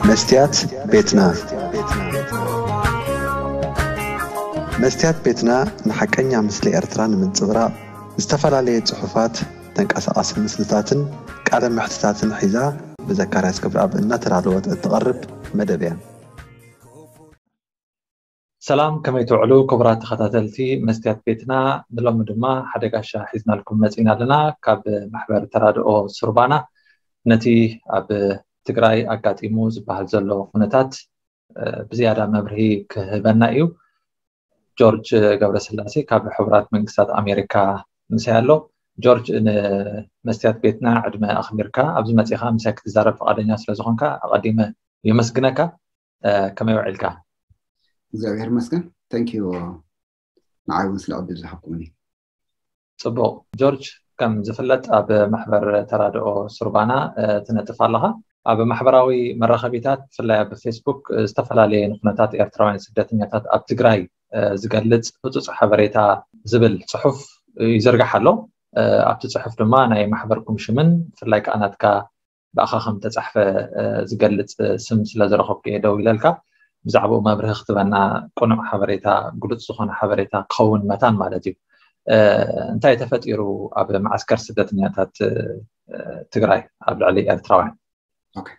መስትያት ቤትና። መስትያት ቤትና ንሓቀኛ ምስሊ ኤርትራ ንምንጽብራቕ ዝተፈላለየ ጽሑፋት፣ ተንቀሳቓሲ ምስልታትን ቃለ መሕትታትን ሒዛ ብዘካርያስ ክብረኣብ እናተዳለወት እትቐርብ መደብ እያ። ሰላም፣ ከመይ ትውዕሉ ክቡራት ተኸታተልቲ መስትያት ቤትና? ንሎሚ ድማ ሓደ ጋሻ ሒዝናልኩም መጺና ኣለና። ካብ ማሕበር ተራድኦ ሱርባና ነቲ ኣብ ትግራይ ኣጋጢሙ ዝበሃል ዘሎ ኩነታት፣ እ፣ ብዝያዳ መብርሂ ክህበና እዩ። ጆርጅ ገብረስላሴ ካብ ሕቡራት መንግስታት ኣሜሪካ ምሳይ ኣሎ። ጆርጅ፣ ንመስትያት ቤትና ዕድመ ኣኽቢርካ ኣብዚ መጺኻ ምሳይ ክትዛረብ ፈቓደኛ ስለ ዝኾንካ ኣቐዲመ የመስግነካ። እ፣ ከመይ ውዒልካ? እግዚኣብሔር ይመስገን። Thank you፣ ንዓይ እውን ስለ ዕድል ዝሃብኩምኒ። ጽቡቕ። ጆርጅ፣ ከም ዝፍለጥ ኣብ ማሕበር ተራድኦ ሱርባና፣ እ፣ ትነጥፍ ኣለኻ። ኣብ ማሕበራዊ መራኸቢታት፣ ብፍላይ ኣብ ፌስቡክ፣ እ፣ ዝተፈላለየ ንኩነታት ኤርትራውያን ስደተኛታት ኣብ ትግራይ፣ እ፣ ዝገልጽ ህጹጽ ሓበሬታ ዝብል ጽሑፍ ይዝርጋሕ ኣሎ። እ፣ ኣብቲ ጽሑፍ ድማ ናይ ማሕበርኩም ሽምን ብፍላይ ከኣ ናትካ ብኣኻ ከም ተጻሕፈ፣ እ፣ ዝገልጽ ስም ስለ ዝረኸብኩ እየ ደው ኢለልካ። ብዛዕባኡ መብርሂ ክትበና፣ ቅኑዕ ሓበሬታ፣ ግሉጽ ዝኾነ ሓበሬታ ክኸውን መታን ማለት እዩ። እ፣ እንታይ ተፈጢሩ ኣብ መዓስከር ስደተኛታት፣ እ፣ ትግራይ ኣብ ልዕሊ ኤርትራውያን? ኦኬ።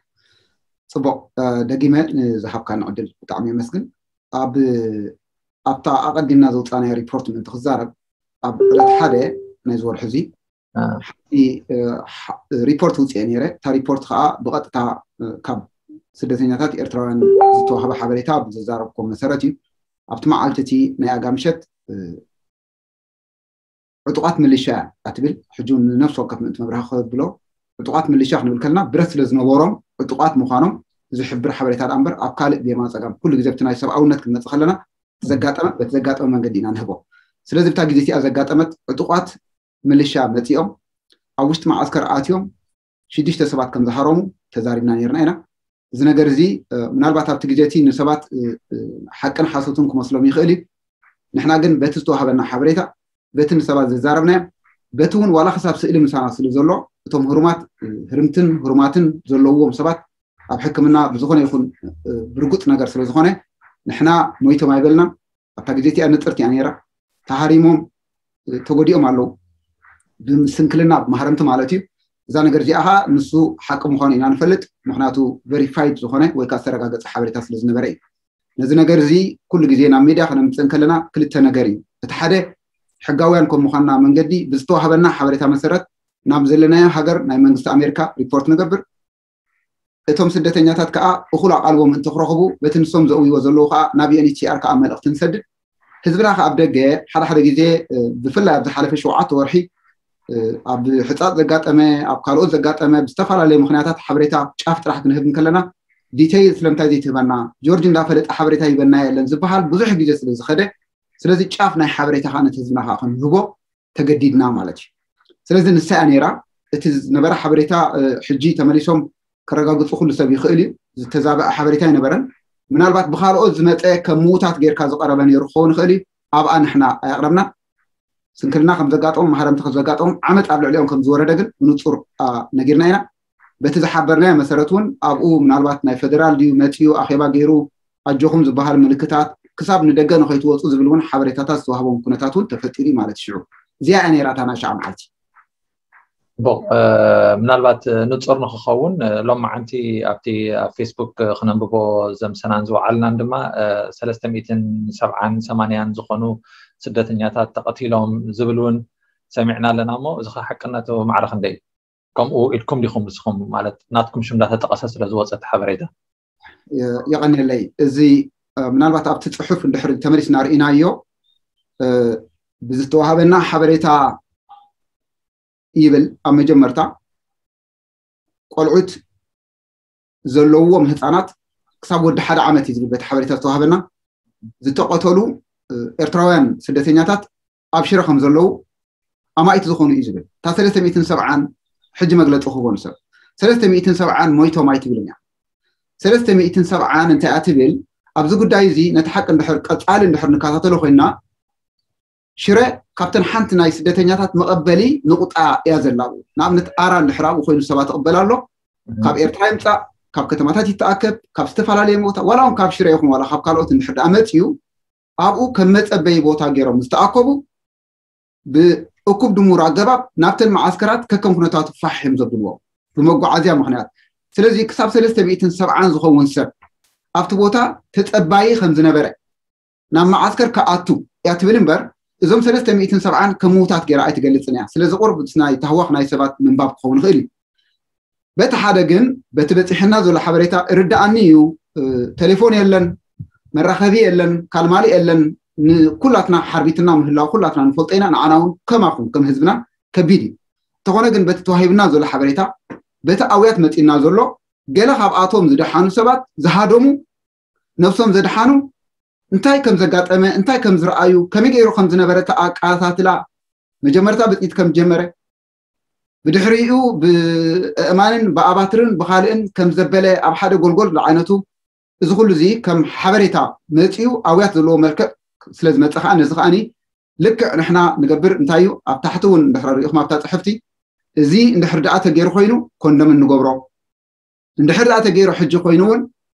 ጽቡቕ፣ እ፣ ደጊመ ንዝሃብካኒ ዕድል ብጣዕሚ የመስግን። ኣብ፣ ኣብታ ኣቐዲምና ዘውጻናያ ሪፖርት ምእንቲ ክዛረብ፣ ኣብ ዕለት ሓደ ናይዚ ወርሒ እዚ እ። ሓንቲ፣ እ፣ ሓ-፣ ሪፖርት ውፅኤ ነይረ። እታ ሪፖርት ከዓ ብቐጥታ፣ እ፣ ካብ ስደተኛታት ኤርትራውያን ዝተዋህበ ሓበሬታ ብዝዛረብኩም መሰረት እዩ። ኣብቲ መዓልቲ እቲ ናይ ኣጋ ምሸት፣ እ፣ ዕጡቓት ምልሻ እያ ትብል። ሕጂ እውን ንነፍሲ ወከፍ ምእንቲ መብርሂ ክብሎ፣ ዕጡቓት ምልሻ ክንብል ከለና ብረት ስለ ዝነበሮም ዕጡቓት ምዃኖም ዝሕብር ሓበሬታ ደኣ እምበር ኣብ ካልእ ብየማን ጸጋም ኩሉ ግዜ ኣብቲ ናይ ሰብኣውነት ክንመጽእ ከለና ዘጋጠመ፣ በቲ ዘጋጠመ መንገዲ ኢና ንህቦ። ስለዚ ብታ ግዜ እቲኣ ዘጋጠመት ዕጡቓት ምልሻ መጺኦም ኣብ ውሽጢ መዓስከር ኣትዮም ሽዱሽተ ሰባት ከም ዝሃረሙ ተዛሪብና ነይርና ኢና። እዚ ነገር እዚ፣ እ፣ ምናልባት ኣብቲ ግዜ እቲ ንሰባት፣ እ፣ እ፣ ሓቅን ሓሶትን ክመስሎም ይኽእል እዩ። ንሕና ግን በቲ ዝተዋህበና ሓበሬታ፣ በቲ ንሰባት ዘዛረብናዮም፣ በቲ እውን ዋላ ክሳብ ስእሊ ምሳና ስለ ዘሎ፣ እቶም ህሩማት፣ እ፣ ህርምትን ህሩማትን ዘለውዎም ሰባት ኣብ ሕክምና ብዝኾነ ይኹን፣ እ፣ ብርጉጽ ነገር ስለ ዝኾነ፣ ንሕና ሞይቶም ኣይበልናን። ኣብታ ግዜ እቲኣ ንጽርቲ እያ ነይራ። ተሃሪሞም፣ እ፣ ተጎዲኦም ኣለዉ። ብምስንክልና፣ ብማህረምቲ ማለት እዩ። እዛ ነገር እዚኣ ኸኣ ንሱ ሓቂ ምዃኑ ኢና ንፈልጥ። ምኽንያቱ ቨሪፋይድ ዝኾነ ወይ ከኣ ዝተረጋገጸ ሓበሬታ ስለ ዝነበረ እዩ። ነዚ ነገር እዚ ኩሉ ግዜ ናብ ሚድያ ከነምጽእ እንከለና ክልተ ነገር እዩ። እቲ ሓደ፣ ሕጋውያን ከም ምዃንና መንገዲ ብዝተዋህበና ሓበሬታ መሰረት ናብ ዘለናዮ ሃገር ናይ መንግስቲ ኣሜሪካ ሪፖርት ንገብር። እቶም ስደተኛታት ከኣ እኹል ኣቓልቦ ምእንቲ ክረኽቡ በቲ ንሶም ዘእውይዎ ዘለዉ ከኣ ናብ ዩ ኤን ኤች ሲ ኣር ከኣ መልእኽቲ ንሰድድ። ህዝብና ከኣ ኣብ ደገ ሓደ ሓደ ግዜ፣ እ፣ ብፍላይ ኣብ ዝሓለፈ ሸውዓተ ወርሒ፣ እ፣ ኣብ ሕጻጽ ዘጋጠመ፣ ኣብ ካልኦት ዘጋጠመ ብዝተፈላለየ ምኽንያታት ሓበሬታ ጫፍ ጥራሕ ክንህብ እንከለና ዲተይል ስለምንታይ ዘይትህበና፣ ጆርጅ እንዳፈለጠ ሓበሬታ ይበና የለን ዝበሃል ብዙሕ ግዜ ስለ ዝኸደ፣ ስለዚ ጫፍ ናይ ሓበሬታ ከኣ ነቲ ህዝብና ከኣ ክንህቦ ተገዲድና ማለት እዩ። ስለዚ ንሳ እያ ነይራ። እቲ ዝነበረ ሓበሬታ፣ እ፣ ሕጂ ተመሊሶም ከረጋግጹ ኩሉ ሰብ ይኽእል እዩ። ዝተዛበዐ ሓበሬታ ኣይነበረን። ምናልባት ብኻልኦት ዝመጸ ከም ምውታት ጌርካ ዝቐረበ ነይሩ ክኸውን ይኽእል እዩ። ኣብኣ ንሕና ኣየቕረብና። ስንክልና ከም ዘጋጠሞም፣ ማህረምቲ ከም ዘጋጠሞም፣ ዓመጽ ኣብ ልዕሊኦም ከም ዝወረደ ግን ብንጹር፣ ኣ፣ ነጊርና ኢና። በቲ ዝሓበርናዮ መሰረት እውን ኣብኡ ምናልባት ናይ ፌደራል ድዩ መጺኡ ኣኼባ ገይሩ ኣጆኹም ዝበሃል ምልክታት ክሳብ ንደገ ንኸይትወጹ ዝብል እውን ሓበሬታታት ዝተዋህቦም ኩነታት እውን ተፈጢሩ እዩ ማለት እዩ። ሽዑ እዚኣ እያ ነይራ እታ ናይ ሽዓ መዓልቲ። ጽቡቕ፣ እ፣ ምናልባት፣ እ፣ ንጹር ንኽኸውን፣ እ፣ ሎማዓንቲ ኣብቲ ኣብ ፌስቡክ፣ እ፣ ክነንብቦ ዘምሰናን ዝወዓልናን ድማ፣ እ፣ ሰለስተ ሚእትን ሰብዓን ሰማንያን ዝኾኑ ስደተኛታት ተቐቲሎም ዝብል እውን ሰሚዕና ኣለና እሞ፣ እዚ ኸ ሓቅነቱ ማዕረ ክንደይ እዩ? ከምኡ ኢልኩም ዲኹም ንስኹም፣ ማለት ናትኩም ሽም እንዳተጠቐሰ ስለ ዝወጸ እቲ ሓበሬታ? የ-፣ የቐንየለይ። እዚ፣ እ፣ ምናልባት ኣብቲ ጽሑፍ እንድሕር ተመሊስና ርኢናዮ፣ እ፣ ብዝተዋሃበና ሓበሬታ ይብል ኣብ መጀመርታ፣ ቆልዑት ዘለውዎም ህጻናት ክሳብ ወዲ ሓደ ዓመት እዩ ዝብል በቲ ሓበሬታ ዝተዋሃበና። ዝተቐተሉ፣ እ፣ ኤርትራውያን ስደተኛታት ኣብ ሽረ ከም ዘለዉ ኣማኢት ዝኾኑ እዩ ዝብል። እታ ሰለስተ ሚእትን ሰብዓን ሕጂ መግለጺ ክህቦ ንሰብ። ሰለስተ ሚእትን ሰብዓን ሞይቶም ኣይትብልን እያ። ሰለስተ ሚእትን ሰብዓን እንታይ እያ ትብል? ኣብዚ ጉዳይ እዚ ነቲ ሓቂ እንድሕር ቀጻሊ እንድሕር ንከታተሎ ኮይንና፣ ሽረ ካብተን ሓንቲ ናይ ስደተኛታት መቐበሊ ንቑጣ እያ ዘላ። ንኣብነት ኣራ እንድሕር ኣብኡ ኮይኑ ሰባት ይቕበል ኣሎ። ካብ ኤርትራ ይምጻእ፣ ካብ ከተማታት ይተኣከብ፣ ካብ ዝተፈላለየ ቦታ፣ ዋላ እውን ካብ ሽረ ይኹን ዋላ ካብ ካልኦት እንድሕር ደኣ መፅዩ፣ ኣብኡ ከም መፀበይ ቦታ ገይሮም ዝተኣከቡ ብእኩብ ድሙር ኣገባብ ናብተን መዓስከራት ከከም ኩነታቱ ፋሕ እዮም ዘብልዎ ብመጓዓዝያ ምክንያት። ስለዚ ክሳብ ሰለስተ ሚእትን ሰብዓን ዝኸውን ሰብ ኣብቲ ቦታ ተፀባዪ ከም ዝነበረ፣ ናብ መዓስከር ክኣቱ እያ ትብል እምበር፣ እዞም ሰለስተ ሚእትን ሰብዓን ከም ምውታት ገይራ ኣይትገልፅን እያ። ስለዚ ቁሩብ ናይ ታህዋኽ ናይ ሰባት ምንባብ ክኸውን ይኽእል እዩ። በቲ ሓደ ግን በቲ በፂሕና ዘሎ ሓበሬታ ርድኣኒ እዩ። ቴሌፎን የለን፣ መራኸቢ የለን፣ ካልማሊ የለን። ንኩላትና ሓርቢትና ምህላው ኩላትና ንፈልጦ ኢና። ንዓና እውን ከማኹም ከም ህዝብና ከቢድ እዩ። እንተኾነ ግን በቲ ተዋሂብና ዘሎ ሓበሬታ፣ በቲ ኣውያት መፂና ዘሎ፣ ገለ ካብኣቶም ዝደሓኑ ሰባት ዝሃደሙ፣ ነብሶም ዘድሓኑ፣ እንታይ ከም ዘጋጠመ፣ እንታይ ከም ዝረኣዩ፣ ከመይ ገይሩ ከም ዝነበረ ተኣቃታትላ፣ መጀመርታ ብጥይት ከም ዝጀመረ፣ ብድሕሪኡ ብእእማንን ብኣባትርን ብኻልእን ከም ዘበለ ኣብ ሓደ ጎልጎል ዝዓይነቱ፣ እዚ ኩሉ እዚ ከም ሓበሬታ መፂኡ ኣውያት ዘለዎ መልክዕ ስለ ዝመፀ ከዓ ነዚ ከዓኒ ልክዕ ንሕና ንገብር እንታይ እዩ ኣብ ታሕቲ እውን እንድሕር ሪኢኹም ኣብታ ፅሕፍቲ እዚ እንድሕር ደኣ ተገይሩ ኮይኑ ኮንደም እንገብሮ እንድሕር ደኣ ተገይሩ ሕጂ ኮይኑ እውን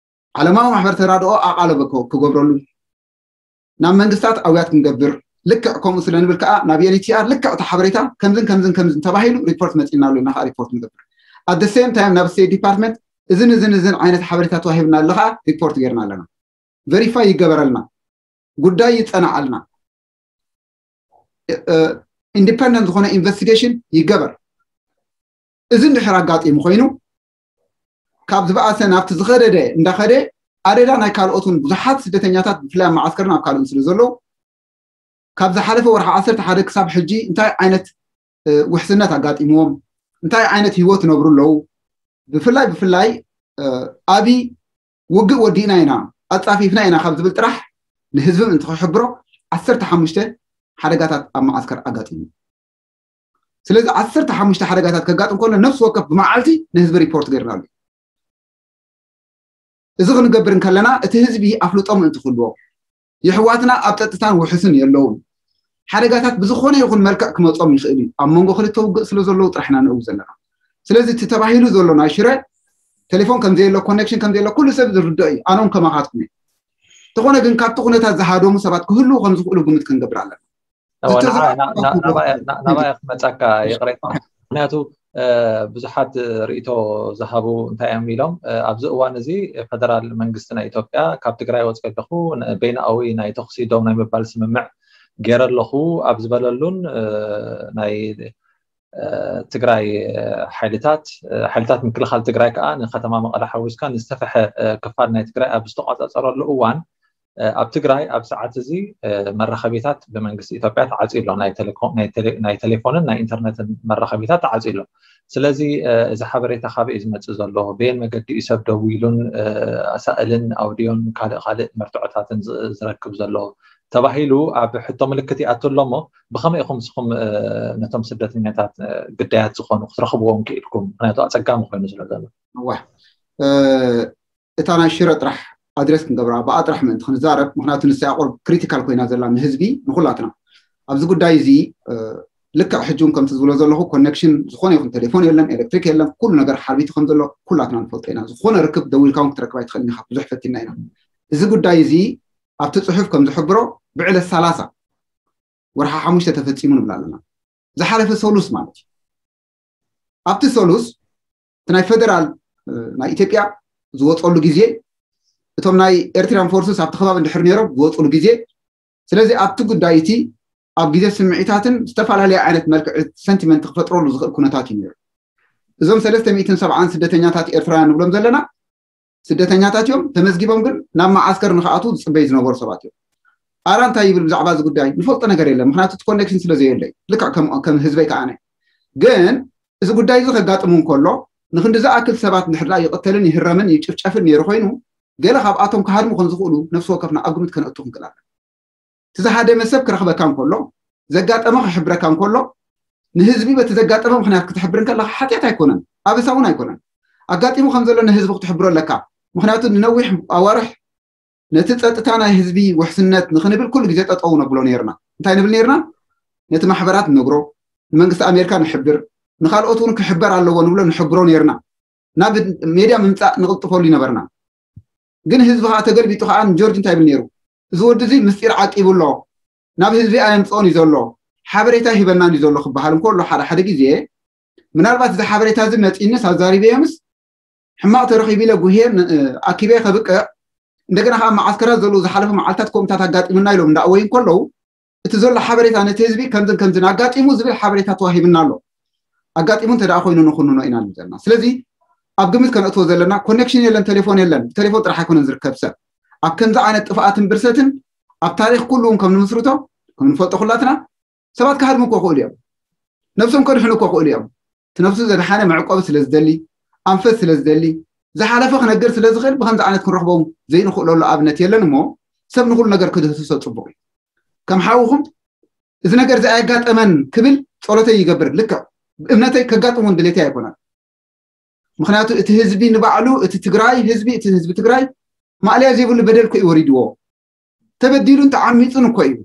ዓለማዊ ማሕበር ተራድኦ ኣቓለበ ክገብረሉ ናብ መንግስታት ኣውያት ክንገብር ልክዕ ከምኡ ስለ ንብል ከዓ ናብ ዩኤንኤችሲኣር ልክዕ እቲ ሓበሬታ ከምዝን ከምዝን ከምዝን ተባሂሉ ሪፖርት መፂና ኣሎ ኢልና ከዓ ሪፖርት ንገብር። ኣት ሴም ታይም ናብ ስቴት ዲፓርትመንት እዝን እዝን እዝን ዓይነት ሓበሬታ ተዋሂብና ኣሎ ከዓ ሪፖርት ገይርና ኣለና። ቨሪፋይ ይገበረልና፣ ጉዳይ ይፀናዓልና፣ ኢንዲፐንደንት ዝኾነ ኢንቨስቲጌሽን ይገበር። እዚ እንድሕር ኣጋጢሙ ኮይኑ ካብ ዝበኣሰ ናብቲ ዝኸደደ እንዳኸደ ኣደዳ ናይ ካልኦት እውን ብዙሓት ስደተኛታት ብፍላይ ኣብ መዓስከርን ኣብ ካልኦን ስለ ዘለዉ ካብ ዝሓለፈ ወርሒ ዓሰርተ ሓደ ክሳብ ሕጂ እንታይ ዓይነት ውሕስነት ኣጋጢምዎም እንታይ ዓይነት ህይወት ነብሩ ኣለዉ ብፍላይ ብፍላይ ኣብይ ውግእ ወዲእና ኢና ኣፃፊፍና ኢና ካብ ዝብል ጥራሕ ንህዝብም እንትክሕብሮ ዓሰርተ ሓሙሽተ ሓደጋታት ኣብ መዓስከር ኣጋጢሙ። ስለዚ ዓሰርተ ሓሙሽተ ሓደጋታት ከጋጥም ከሎ ነፍሲ ወከፍ ብመዓልቲ ንህዝቢ ሪፖርት ገይርናሉ። እዚ ክንገብር እንከለና እቲ ህዝቢ ኣፍልጦ ምእንቲ ክህልዎ የሕዋትና ኣብ ፀጥታን ውሕስን የለውን። ሓደጋታት ብዝኾነ ይኹን መልክዕ ክመፆም ይኽእል እዩ። ኣብ መንጎ ክልተ ውግእ ስለ ዘለዉ ጥራሕ ኢና ንእው ዘለና። ስለዚ እቲ ተባሂሉ ዘሎ ናይ ሽረ ቴሌፎን ከም ዘየሎ ኮኔክሽን ከም ዘየሎ ኩሉ ሰብ ዝርድኦ እዩ። ኣነውን ከማኻትኩም እየ። እንተኾነ ግን ካብቲ ኩነታት ዝሃደሙ ሰባት ክህልዉ ከም ዝኽእሉ ግምት ክንገብር ኣለና። ናባይ ክመፀካ ይቕሬታ። ምክንያቱ ብዙሓት ርእቶ ዝሃቡ እንታይ እዮም ኢሎም ኣብዚ እዋን እዚ ፌደራል መንግስቲ ናይ ኢትዮጵያ ካብ ትግራይ ወፂኦ ኣለኹ በይናዊ ናይ ተኽሲ ደው ናይ ምባል ስምምዕ ገይረ ኣለኹ ኣብ ዝበለሉን ናይ ትግራይ ሓይልታት ሓይልታት ምክልኻል ትግራይ ከዓ ንከተማ መቐለ ሓዊስካ ንዝተፈሐ ክፋል ናይ ትግራይ ኣብ ዝተቋፃፀረሉ እዋን ኣብ ትግራይ ኣብ ሰዓት እዚ መራኸቢታት ብመንግስቲ ኢትዮጵያ ተዓፅዩ ኣሎ ናይ ቴሌፎንን ናይ ኢንተርነትን መራኸቢታት ተዓፅዩ ኣሎ። ስለዚ እዚ ሓበሬታ ካበይ እዩ ዝመፅእ ዘሎ በየን መገዲ እዩ ሰብ ደዊሉን ኣሳእልን ኣውድዮን ካልእ ካልእ መርትዖታትን ዝረክብ ዘሎ ተባሂሉ ኣብ ሕቶ ምልክት ይኣቱ ኣሎ እሞ ብኸመይ ኢኹም ንስኹም ነቶም ስደተኛታት ግዳያት ዝኾኑ ክትረኽብዎም ክኢልኩም ምክንያቱ ኣፀጋሚ ኮይኑ ስለ ዘሎ። እታ ናይ ሽረ ጥራሕ ኣድረስ ክንገብራ ብኣ ጥራሕ ምእንቲ ክንዛረብ ምክንያቱ ንሳ ቁርብ ክሪቲካል ኮይና ዘላ ንህዝቢ ንኩላትና ኣብዚ ጉዳይ እዚ ልክዕ ሕጂ እውን ከምቲ ዝብሎ ዘለኹ ኮኔክሽን ዝኾነ ይኹን ቴሌፎን የለን ኤሌክትሪክ የለን ኩሉ ነገር ሓርቢቱ ከም ዘሎ ኩላትና ንፈልጦ ኢና። ዝኾነ ርክብ ደዊልካ እውን ክትረክብ ኣይትኽእልን ኢኻ ብዙሕ ፈቲና ኢና። እዚ ጉዳይ እዚ ኣብቲ ፅሑፍ ከም ዝሕብሮ ብዕለት ሰላሳ ወርሓ ሓሙሽተ ተፈፂሙ ንብል ኣለና። ዝሓለፈ ሰሉስ ማለት እዩ። ኣብቲ ሰሉስ እቲ ናይ ፌደራል ናይ ኢትዮጵያ ዝወፀሉ ግዜ እቶም ናይ ኤርትራን ፎርስስ ኣብቲ ከባቢ እንድሕር ነይሮም ዝወፅሉ ግዜ ስለዚ ኣብቲ ጉዳይ እቲ ኣብ ግዜ ስምዒታትን ዝተፈላለየ ዓይነት መልክዕ ሰንቲመንት ክፈጥረሉ ዝኽእል ኩነታት እዩ ነይሩ። እዞም ሰለስተ ሚእትን ሰብዓን ስደተኛታት ኤርትራውያን ንብሎም ዘለና ስደተኛታት እዮም ተመዝጊቦም ግን ናብ መዓስከር ንክኣትዉ ዝፅበዩ ዝነበሩ ሰባት እዮም። ኣራ እንታይ ይብል ብዛዕባ እዚ ጉዳይ ንፈልጦ ነገር የለን ምክንያቱ እቲ ኮኔክሽን ስለ ዘየለይ ልክዕ ከም ህዝበይ ከዓነ ግን እዚ ጉዳይ እዚ ከጋጥሙ እንከሎ ንክንዲ ዝኣክል ሰባት እንድሕር ይቕተልን ይህረምን ይጭፍጨፍን ነይሩ ኮይኑ ገለ ካብኣቶም ክሃድሙ ከም ዝኽእሉ ነፍሲ ወከፍና ኣብ ግምት ከነእቱ ክንክእል ኣለና። እቲ ዝሃደመ ሰብ ክረኽበካ እንከሎ ዘጋጠመ ክሕብረካ እንከሎ ንህዝቢ በቲ ዘጋጠመ ምክንያት ክትሕብር እንከለካ ሓጢኣት ኣይኮነን፣ ኣበሳ እውን ኣይኮነን። ኣጋጢሙ ከም ዘሎ ንህዝቢ ክትሕብሮ ኣለካ። ምክንያቱ ንነዊሕ ኣዋርሕ ነቲ ፀጥታ ናይ ህዝቢ ውሕስነት ንክንብል ኩሉ ግዜ ጠጠው ነብሎ ነይርና። እንታይ ንብል ነይርና? ነቲ ማሕበራት ንነግሮ፣ ንመንግስቲ ኣሜሪካ ንሕብር፣ ንካልኦት እውን ክሕበር ኣለዎ ንብሎ ንሕብሮ ነይርና። ናብ ሜድያ ምምፃእ ንቕልጥፈሉ ይነበርና። ግን ህዝቢ ከዓ ተገልቢጡ ከዓ ንጆርጅ እንታይ ይብል ነይሩ? እዚ ወዲ እዚ ምስጢር ዓቂቡ ኣሎ፣ ናብ ህዝቢ ኣየምፅኦን እዩ ዘሎ፣ ሓበሬታ ይህበናን እዩ ዘሎ ክበሃል እንከሎ ሓደ ሓደ ግዜ ምናልባት እዚ ሓበሬታ እዚ መፂንስ ኣዛሪበዮምስ ሕማቕ ተረኺቡ ኢለ ጉሄ ኣኪበ ከብቅዕ እንደገና ከዓ መዓስከራት ዘለዉ ዝሓለፈ መዓልታት ከምታት ኣጋጢሙና ኢሎም እንዳእወዩ እንከለዉ እቲ ዘሎ ሓበሬታ ነቲ ህዝቢ ከምዝን ከምዝን ኣጋጢሙ ዝብል ሓበሬታ ተዋሂብና ኣሎ። ኣጋጢሙ እንተ ደኣ ኮይኑ ንኹንኖ ኢና ንብል ዘለና። ስለዚ ኣብ ግምት ከነእትዎ ዘለና ኮኔክሽን የለን፣ ቴሌፎን የለን። ብቴሌፎን ጥራሕ ኣይኮነን ዝርከብ ሰብ። ኣብ ከምዚ ዓይነት ጥፍኣትን ብርሰትን ኣብ ታሪኽ ኩሉ እውን ከም ንምስርቶ ከም ንፈልጦ ኩላትና ሰባት ክሃድሙ እኮ ክእሉ እዮም። ነብሶም ከድሕኑ እኮ ክእሉ እዮም። እቲ ነብሱ ዘድሓነ መዕቆቢ ስለ ዝደሊ፣ ኣንፈት ስለ ዝደሊ፣ ዝሓለፈ ክነግር ስለ ዝኽእል ብከምዚ ዓይነት ክንረኽቦም ዘይንኽእለሉ ኣብነት የለን እሞ ሰብ ንኹሉ ነገር ክድህስሶ ፅቡቕ እዩ። ከም ሓውኹም እዚ ነገር እዚ ኣየጋጠመን ክብል ጸሎተይ ይገብር። ልክዕ እምነተይ ከጋጥም እውን ድሌተይ ኣይኮነን። ምክንያቱ እቲ ህዝቢ ንባዕሉ እቲ ትግራይ ህዝቢ እቲ ህዝቢ ትግራይ ማእለያ ዘይብሉ በደል እኮ እዩ ወሪድዎ። ተበዲሉን ተዓሚፁን እኮ እዩ።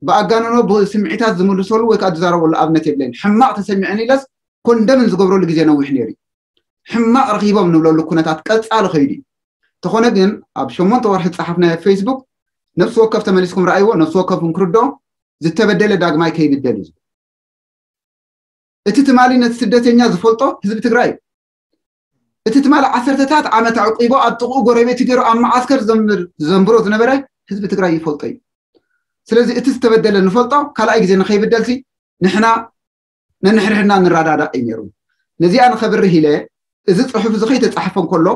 ብኣጋንኖ ብስምዒታት ዝምልሰሉ ወይ ከዓ ዝዛረበሉ ኣብነት የብለይን። ሕማቕ ተሰሚዐን ኢለስ ኮንደምን ዝገብረሉ ግዜ ነዊሕ ነይሩ እዩ። ሕማቕ ረኺቦም ንብለሉ ኩነታት ቀፃሊ ከይዱ እዩ። ተኾነ ግን ኣብ ሸሞንተ ወርሒ ዝፀሓፍናዮ ፌስቡክ ነፍሲ ወከፍ ተመሊስኩም ረኣይዎ፣ ነፍሲ ወከፍ እንክርዶ ዝተበደለ ዳግማይ ከይብደል እዩ። እቲ ትማሊ ነቲ ስደተኛ ዝፈልጦ ህዝቢ ትግራይ እዩ። እቲ ትማሊ ዓሰርተታት ዓመት ኣዕቂቦ ኣብ ጥቕኡ ጎረቤት ገይሩ ኣብ መዓስከር ዘንብሮ ዝነበረ ህዝቢ ትግራይ ይፈልጦ እዩ። ስለዚ እቲ ዝተበደለ ንፈልጦ ካልኣይ ግዜ ንኸይብደልሲ ንሕና ነንሕድሕድና ንረዳዳእ እዩ ነይሩ። ነዚኣ ንኸብርህ ኢለ እዚ ፅሑፍ እዚ ከይተፃሕፈ እንከሎ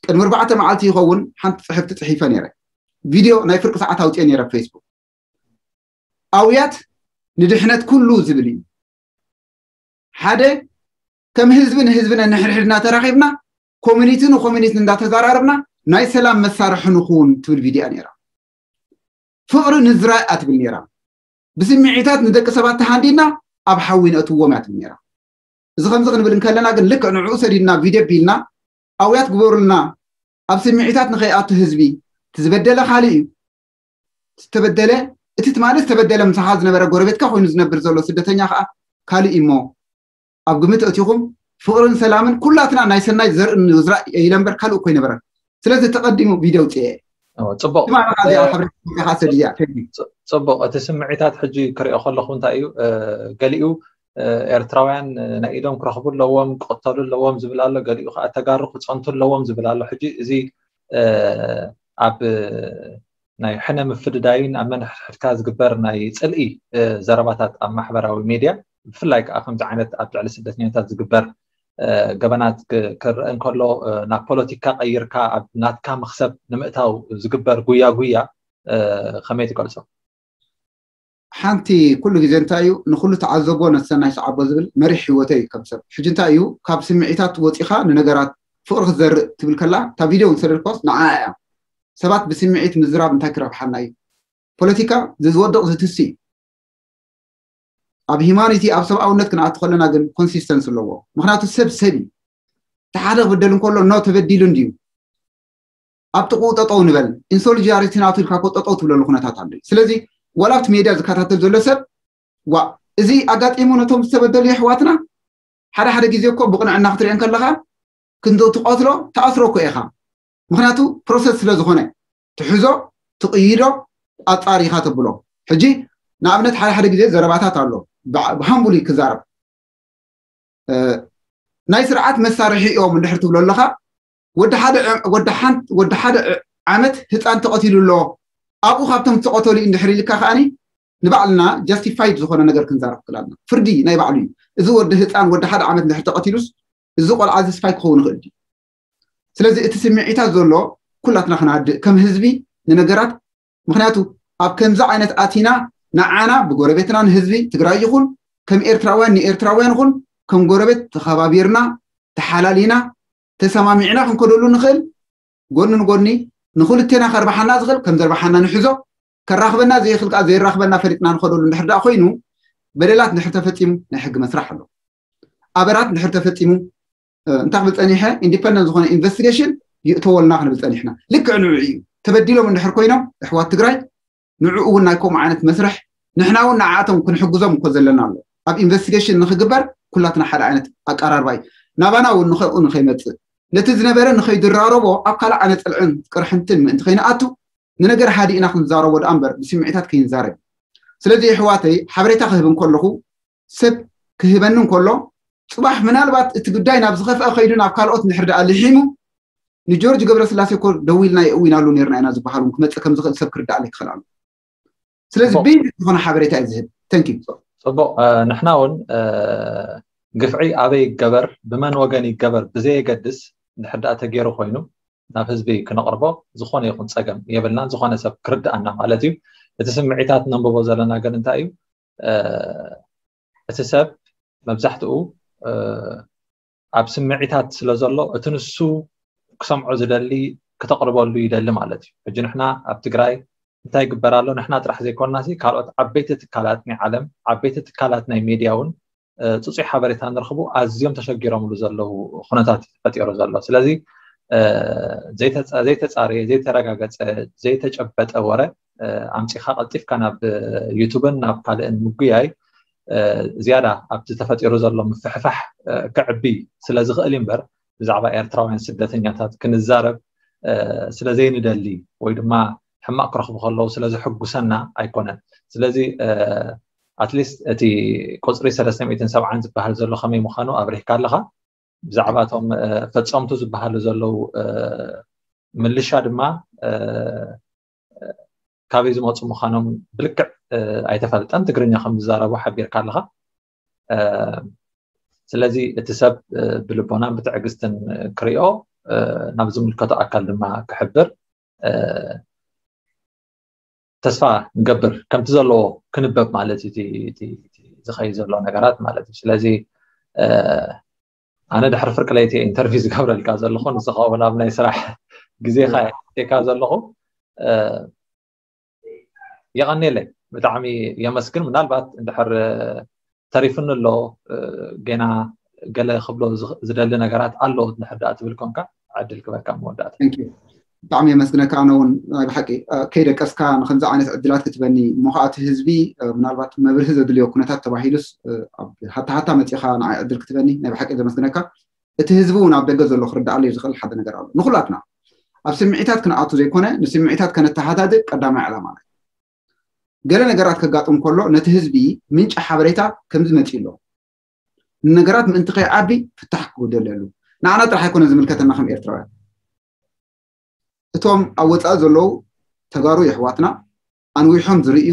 ቅድሚ ኣርባዕተ መዓልቲ ይኸውን ሓንቲ ፅሕፍቲ ፅሒፈ ነይረ። ቪድዮ ናይ ፍርቂ ሰዓት ኣውፅኦ ነይረ ፌስቡክ። ኣውያት ንድሕነት ኩሉ ዝብል እዩ። ሓደ ከም ህዝቢ ንህዝቢ ነንሕድሕድና ተራኺብና ኮሚኒቲ ንኮሚኒቲ እንዳተዘራረብና ናይ ሰላም መሳርሒ ንኹን ትብል ቪድያ ነይራ። ፍቕሪ ንዝራእ ኣትብል ነይራ። ብስምዒታት ንደቂ ሰባት ተሃንዲና ኣብ ሓዊ ነእትዎም እያ ትብል ነይራ። እዚ ከምዚ ክንብል እንከለና ግን ልክዕ ንዕኡ ሰዲድና ቪድዮ ቢልና ኣውያት ግበሩልና ኣብ ስምዒታት ንኸይኣቱ ህዝቢ ትዝበደለ ካልእ እዩ። ዝተበደለ እቲ ትማሊ ዝተበደለ ምሳኻ ዝነበረ ጎረቤትካ ኮይኑ ዝነብር ዘሎ ስደተኛ ከዓ ካልእ እዩ እሞ ኣብ ግምት እቲኹም ፍቕርን ሰላምን ኩላትና ናይ ሰናይ ዘርኢ ንዝራእ ኢለ እምበር ካልእ እኮ ይነበረን። ስለዚ ተቐዲሙ ቪድዮ ውፅኤ ጽቡቅ ትማሊ ካ እዚኣ ሓበሬታ ሰዲያ ጽቡቅ። እቲ ስምዒታት ሕጂ ክሪኦ ከለኹ እንታይ እዩ ገሊኡ ኤርትራውያን ናይ ኢዶም ክረኽቡ ኣለዎም፣ ክቕተሉ ኣለዎም ዝብል ኣሎ። ገሊኡ ከዓ ተጋሩ ክፀንቱ ኣለዎም ዝብል ኣሎ። ሕጂ እዚ ኣብ ናይ ሕነ ምፍድዳይን ኣብ መንሕድሕድካ ዝግበር ናይ ፅልኢ ዘረባታት ኣብ ማሕበራዊ ሜድያ ብፍላይ ከዓ ከምዚ ዓይነት ኣብ ልዕሊ ስደተኛታት ዝግበር ገበናት ክረአ እንከሎ ናብ ፖለቲካ ቀይርካ ኣብ ናትካ መክሰብ ንምእታው ዝግበር ጉያ ጉያ ከመይ ትገልፆ? ሓንቲ ኩሉ ግዜ እንታይ እዩ ንኩሉ ተዓዘቦ ነቲ ሰናይ ሰዓቦ ዝብል መሪሕ ህይወተይ እዩ ከም ሰብ። ሕጂ እንታይ እዩ ካብ ስምዒታት ወፂኻ ንነገራት ፍቕሪ ክትዘርእ ትብል ከላ እታ ቪድዮ እውን ሰደድኳስ ንዓ እያ። ሰባት ብስምዒት ምዝራብ እንታይ ክረብሓና እዩ? ፖለቲካ ዝወድቕ ዝትሲ እዩ። ኣብ ሂማኒቲ ኣብ ሰብኣውነት ክንኣቱ ከለና ግን ኮንሲስተንስ ኣለዎ። ምክንያቱ ሰብ ሰብ እዩ። እቲ ሓደ ክብደል እንከሎ ኖ ተበዲሉ እንድዩ ኣብ ጥቕኡ ጠጠው ንበል ኢንሶሊዳሪቲ ናቱ ኢልካ ኮ ጠጠው ትብለሉ ኩነታት ኣሎ። ስለዚ ዋላ ኣብቲ ሜድያ ዝከታተል ዘሎ ሰብ ዋ እዚ ኣጋጢሙ ነቶም ዝተበደሉ የሕዋትና ሓደ ሓደ ግዜ እኮ ብቕንዕና ክትሪኦ ከለካ ክንዶ ትቐትሎ ትኣስሮ እኮ ኢኻ። ምክንያቱ ፕሮሰስ ስለ ዝኾነ ትሕዞ ትቕይዶ ኣፃሪኻ ተብሎ። ሕጂ ንኣብነት ሓደ ሓደ ግዜ ዘረባታት ኣሎ ብሃምቡሊ ክዛረብ ናይ ስርዓት መሳርሒ እዮም እንድሕር ትብሎ ኣለካ ወዲ ሓደ ዓመት ህፃን ተቐቲሉ ኣሎ ኣብኡ ካብቶም ዝተቐተሉ እንድሕር ኢልካ ከዓኒ ንባዕልና ጃስቲፋይድ ዝኾነ ነገር ክንዛረብ ክላልና ፍርዲ ናይ ባዕሉ እዩ። እዚ ወዲ ህፃን ወዲ ሓደ ዓመት እንድሕር ተቐቲሉስ እዚ ቆልዓ እዚ ስፓይ ክኸውን ይኽእል ድዩ? ስለዚ እቲ ስምዒታት ዘሎ ኩላትና ክናድእ ከም ህዝቢ ንነገራት ምክንያቱ ኣብ ከምዚ ዓይነት ኣቲና ንዓና ብጎረቤትና ንህዝቢ ትግራይ ይኹን ከም ኤርትራውያን ንኤርትራውያን ይኹን ከም ጎረቤት ተኸባቢርና ተሓላሊና ተሰማሚዕና ክንከደሉ ንኽእል ጎኒ ንጎኒ ንክልቴና ከርባሓና ዝኽእል ከም ዘርባሓና ንሕዞ ከራኽበና ዘይኽእል ከዓ ዘይራኽበና ፈሊጥና ንኸደሉ እንድሕር ደኣ ኮይኑ በደላት እንድሕር ተፈፂሙ ናይ ሕጊ መስራሕ ኣሎ። ኣበራት እንድሕር ተፈፂሙ እንታይ ክብል ፀኒሐ ኢንዲፐንደንት ዝኾነ ኢንቨስቲጌሽን ይእተወልና ክንብል ፀኒሕና ልክዕ ንዑ እዩ። ተበዲሎም እንድሕር ኮይኖም ኣሕዋት ትግራይ ንዑ እውን ናይ ከምኡ ዓይነት መስርሕ ንሕና እውን ንዓኣቶም ክንሕግዞም እኮ ዘለና ኣሎ። ኣብ ኢንቨስቲጌሽን ንክግበር ኩላትና ሓደ ዓይነት ኣቀራርባ እዩ። ናባና እውን ንኸኡ ንኸይመፅእ፣ ነቲ ዝነበረ ንኸይድራረቦ ኣብ ካልእ ኣነ ፅልዕን ቅርሕንትን ምእንቲ ከይንኣቱ፣ ንነገር ሃዲእና ክንዛረቦ ደኣ እምበር ብስምዒታት ከይንዛረብ። ስለዚ ኣሕዋተይ፣ ሓበሬታ ክህብ እንከለኹ፣ ሰብ ክህበኒ እንከሎ፣ ፅባሕ ምናልባት እቲ ጉዳይ ናብ ዝኸፍአ ከይዱ ናብ ካልኦት እንድሕር ደኣ ልሒሙ፣ ንጆርጅ ገብረስላሴ እኮ ደዊልና የእዊናሉ ነርና ኢና ዝበሃል እውን ክመፅእ ከም ዝኽእል ሰብ ክርዳኣለይ ክኽእል ኣሎ። ስለዚ ጽቡቕ። ቤዚክ ዝኾነ ሓበሬታ እዩ ዝህብ። Thank you። ጽቡቕ። ንሕና እውን ግፍዒ ኣበይ ይገበር፣ ብመን ወገን ይገበር ብዘየገድስ፣ እንድሕር ደኣ ተገይሩ ኮይኑ ናብ ህዝቢ ክነቕርቦ ዝኾነ ይኹን ጸገም የብልናን። ዝኾነ ሰብ ክርድኣና ማለት እዩ። እቲ ስምዒታት ነንብቦ ዘለና ግን እንታይ እዩ? እቲ ሰብ መብዛሕትኡ ኣብ ስምዒታት ስለ ዘሎ፣ እቲ ንሱ ክሰምዖ ዝደሊ ክተቕርበሉ ይደሊ ማለት እዩ። ሕጂ ንሕና ኣብ ትግራይ እንታይ ይግበር ኣሎ? ንሕና ጥራሕ ዘይኮንና ሲ፣ ካልኦት ዓበይቲ ትካላት ናይ ዓለም፣ ዓበይቲ ትካላት ናይ ሜድያ እውን ጽጹይ ሓበሬታ ንረኽቡ ኣዝዮም ተሸጊሮምሉ ዘለዉ ኩነታት እዩ ተፈጢሩ ዘሎ። ስለዚ ዘይተጻረየ፣ ዘይተረጋገጸ፣ ዘይተጨበጠ ወረ ኣምጺኻ ቀልጢፍካ ናብ ዩቱብን ናብ ካልእን ምጉያይ ዝያዳ ኣብቲ ተፈጢሩ ዘሎ ምፍሕፋሕ ክዕቢ ስለ ዝኽእል እምበር፣ ብዛዕባ ኤርትራውያን ስደተኛታት ክንዛረብ ስለ ዘይንደሊ ወይ ድማ ሕማቕ ክረኽቡ ከለዉ ስለ ዝሕጉሰና ኣይኮነን። ስለዚ ኣትሊስት እቲ ቁፅሪ ሰለስተ ሚእትን ሰብዓን ዝበሃል ዘሎ ከመይ ምዃኑ ኣብሪህካ ኣለኻ። ብዛዕባ እቶም ፈፀምቱ ዝበሃሉ ዘለዉ ምልሻ ድማ ካበይ ዝመፁ ምዃኖም ብልክዕ ኣይተፈልጠን። ትግርኛ ከም ዝዛረቡ ሓቢርካ ኣለኻ። ስለዚ እቲ ሰብ ብልቦናን ብትዕግስትን ክሪኦ፣ ናብ ዝምልከቶ ኣካል ድማ ክሕብር ተስፋ ንገብር። ከምቲ ዘለዎ ክንበብ ማለት እዩ ዝኸይ ዘሎ ነገራት ማለት እዩ። ስለዚ ኣነ ድሕሪ ፍርቂ ለይቲ ኢንተርቪው ዝገብረልካ ዘለኹ፣ ንስኻ እውን ኣብ ናይ ስራሕ ግዜኻ ቴካ ዘለኹ። የቐኔለይ፣ ብጣዕሚ የመስግን። ምናልባት እንድሕር ተሪፍኒ ኣሎ፣ ገና ገለ ክብሎ ዝደሊ ነገራት ኣሎ እንድሕር ደኣ ትብል ኮንካ ዕድል ክበካ መወዳእታ። ብጣዕሚ የመስግነካ። ኣነ እውን ናይ ብሓቂ ከይደቀስካ ንከምዚ ዓይነት ዕድላት ክትበኒ እሞ ከዓ እቲ ህዝቢ ምናልባት መብርሂ ዘድልዮ ኩነታት ተባሂሉስ ሃታ ሃታ መፂኻ ንዓይ ዕድል ክትበኒ ናይ ብሓቂ ዘመስግነካ። እቲ ህዝቢ እውን ኣብ ደገ ዘሎ ክርዳኣለይ ዝኽእል ሓደ ነገር ኣሎ። ንኩላትና ኣብ ስምዒታት ክንኣቱ ዘይኮነ ንስምዒታት ከነተሃዳድእ ቀዳማይ ዕላማ ናይ ገለ ነገራት ከጋጥም ከሎ ነቲ ህዝቢ ምንጪ ሓበሬታ ከምዚ መፂኡ ኣሎ፣ ንነገራት ምእንቲ ከይዓቢ ፍታሕ ክጉደለሉ ንዓና ጥራሕ ኣይኮነ ዝምልከተና ከም ኤርትራውያን። እቶም ኣብ ወፃኢ ዘለዉ ተጋሩ የሕዋትና ኣንዊሖም ዝርእዩ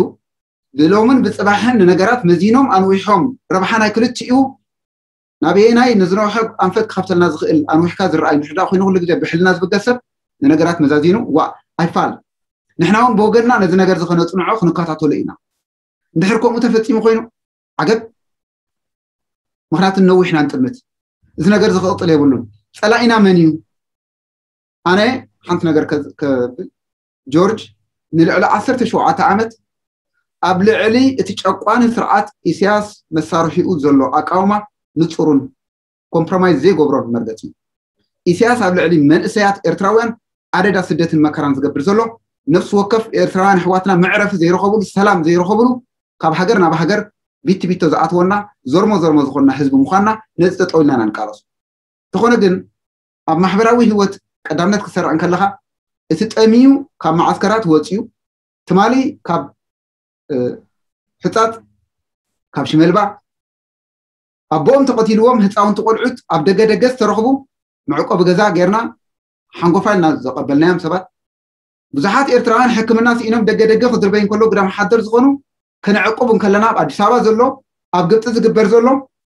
ብሎምን ብፅባሕን ንነገራት መዚኖም ኣንዊሖም ረብሓ ናይ ክልቲኡ ናበየናይ ንዝነውሐ ኣንፈት ክኸፍተልና ዝኽእል ኣንዊሕካ ዝረኣይ እንድሕር ኮይኑ ኩሉ ግዜ ብሕልና ዝብገስ ሰብ ንነገራት መዛዚኑ ዋ ኣይፋል ንሕና እውን ብወገንና ነዚ ነገር ዝኸነፅንዖ ክንከታተሎ ኢና። እንድሕር ከምኡ ተፈፂሙ ኮይኑ ዓገብ። ምክንያቱ ነዊሕና ንጥምት። እዚ ነገር ዝክቕጥል የብሉን። ፀላኢና መን እዩ? ኣነ ሓንቲ ነገር ከብል ጆርጅ ንልዕሊ ዓሰርተ ሸውዓተ ዓመት ኣብ ልዕሊ እቲ ጨቋኒ ስርዓት ኢሳያስ መሳርሒኡ ዘሎ ኣቃውማ ንፁሩን ኮምፕሮማይዝ ዘይገብሮን መርገፂ እዩ። ኢሳያስ ኣብ ልዕሊ መንእሰያት ኤርትራውያን ኣደዳ ስደትን መከራን ዝገብር ዘሎ ነፍሲ ወከፍ ኤርትራውያን ኣሕዋትና መዕረፊ ዘይረኸብሉ ሰላም ዘይረኸብሉ ካብ ሃገር ናብ ሃገር ቢቲ ቢቶ ዝኣትወና ዘርሞ ዘርሞ ዝኾንና ህዝቢ ምዃንና ነዚ ጠጠው ኢልና ኢና ንቃለሶ። እንተኾነ ግን ኣብ ማሕበራዊ ህይወት ቀዳምነት ክሰርዕ እንከለኻ እቲ ጠሚዩ ካብ መዓስከራት ወፂኡ ትማሊ ካብ ሕፃፅ ካብ ሽመልባ ኣቦኦም ተቐቲልዎም ህፃውንቲ ቆልዑት ኣብ ደገ ደገ ዝተረኽቡ መዕቆቢ ገዛ ጌርና ሓንጎፋ ኢልና ዘቐበልናዮም ሰባት ብዙሓት ኤርትራውያን ሕክምና ስኢኖም ደገ ደገ ክድርበይ እንከሎ ግዳም ሓደር ዝኾኑ ከነዕቁብ እንከለና ኣብ ኣዲስ ኣበባ ዘሎ ኣብ ግብፂ ዝግበር ዘሎ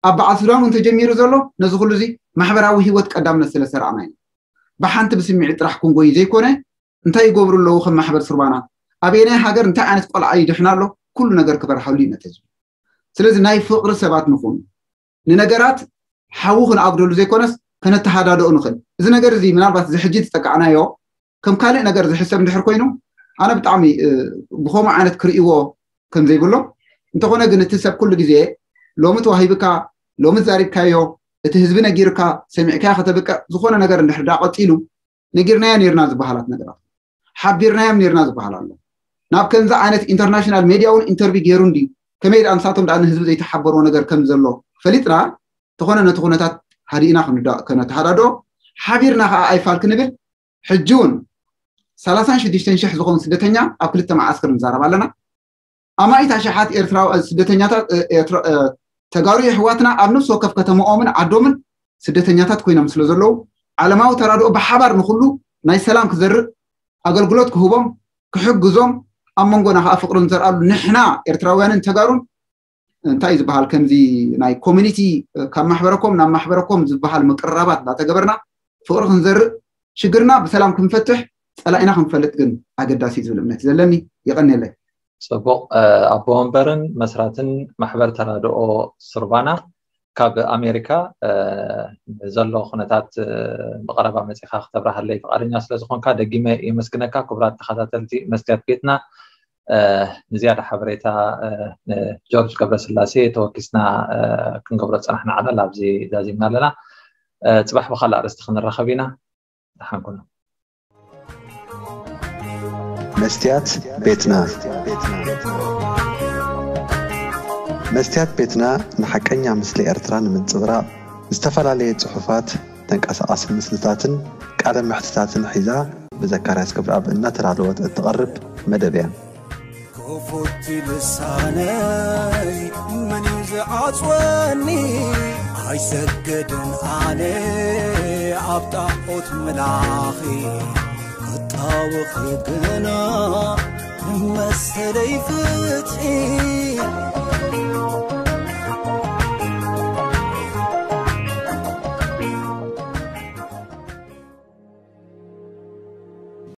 ኣብ በዓል ሱዳን እውን ተጀሚሩ ዘሎ ነዚ ኩሉ እዚ ማሕበራዊ ህይወት ቀዳምነት ስለ ሰራዕና እዩ። ብሓንቲ ብስምዒት ጥራሕ ክንጎይ ዘይኮነ እንታይ ይገብሩ ኣለዉ ከም ማሕበር ሱርባና ኣበየናይ ሃገር እንታይ ዓይነት ቆልዓ ይድሕና ኣሎ ኩሉ ነገር ክበርሃሉ እዩ ነቲ ህዝቢ። ስለዚ ናይ ፍቕሪ ሰባት ንኹን ንነገራት ሓዊ ክንኣጉደሉ ዘይኮነስ ከነተሃዳደኦ ንኽእል። እዚ ነገር እዚ ምናልባት እዚ ሕጂ ዝጠቃዕናዮ ከም ካልእ ነገር ዝሕሰብ እንድሕር ኮይኑ ኣነ ብጣዕሚ ብኸምኡ ዓይነት ክርእይዎ ከም ዘይብሎ እንተኾነ ግን እቲ ሰብ ኩሉ ግዜ ሎሚ ተዋሂብካ ሎሚ ዛሪብካዮ እቲ ህዝቢ ነጊርካ ሰሚዕካዮ ከተብቅዕ ዝኾነ ነገር እንድሕር ዳ ቀፂሉ ነጊርናዮ ነይርና ዝበሃላት ነገራት ሓቢርናዮም ነይርና ዝበሃል ኣሎ። ናብ ከምዚ ዓይነት ኢንተርናሽናል ሜድያ እውን ኢንተርቪ ገይሩ እንድዩ ከመይ ደኣ ንሳቶም ደኣ ንህዝቢ ዘይተሓበርዎ ነገር ከም ዘሎ ፈሊጥና እንተኾነ ነቲ ኩነታት ሃዲእና ክንዳ- ከነተሃዳዶ ሓቢርና ከዓ ኣይፋል ክንብል ሕጂ እውን ሰላሳን ሽዱሽተን ሽሕ ዝኾኑ ስደተኛ ኣብ ክልተ መዓስከር ንዛረብ ኣለና። ኣማኢት ኣሽሓት ኤርትራዊ ስደተኛታት ተጋሩ የሕዋትና ኣብ ነፍሲ ወከፍ ከተማኦምን ዓዶምን ስደተኛታት ኮይኖም ስለ ዘለዉ ዓለማዊ ተራድኦ ብሓባር ንኩሉ ናይ ሰላም ክዘርእ ኣገልግሎት ክህቦም ክሕግዞም ኣብ መንጎና ከዓ ፍቅርን ዘርኣሉ ንሕና ኤርትራውያንን ተጋሩን እንታይ ዝበሃል ከምዚ ናይ ኮሚኒቲ ካብ ማሕበረኮም ናብ ማሕበረኮም ዝበሃል ምቅርራባት እንዳተገበርና ፍቅሪ ክንዘርእ ሽግርና ብሰላም ክንፈትሕ ጸላኢና ክንፈልጥ ግን ኣገዳሲ ዝብል እምነት ዘለኒ። የቀንየለይ። ፅቡቕ። ኣቦ ወንበርን መስራትን ማሕበር ተራድኦ ሱርባና ካብ ኣሜሪካ ዘሎ ኩነታት ብቀረባ መፂኻ ክተብራሃለይ ፍቃደኛ ስለዝኮንካ ደጊመ የመስግነካ። ክቡራት ተኸታተልቲ መስትያት ቤትና ንዝያዳ ሓበሬታ ጆርጅ ገብረስላሴ ተወኪስና ክንገብሮ ዝፀናሕና ዓለል ኣብዚ ዛዚምና ኣለና። ፅባሕ ብካልእ ኣርእስቲ ክንራኸብ ኢና። ደሓን ኩኑ። መስትያት ቤትና መስትያት ቤትና ንሓቀኛ ምስሊ ኤርትራ ንምንጽብራቕ ዝተፈላለየ ጽሑፋት፣ ተንቀሳቓሲ ምስልታትን ቃለ መሕትታትን ሒዛ ብዘካርያስ ገብረኣብ እናተዳለወት እትቐርብ መደብ እያ። ክፉት ልሳነይ መን እዩ ዝዓጽወኒ? ኣይሰግድን ኣነ ኣብ ጣዖት ምላኺ ክጣወኺ ግና መሰለይ ፍትሒ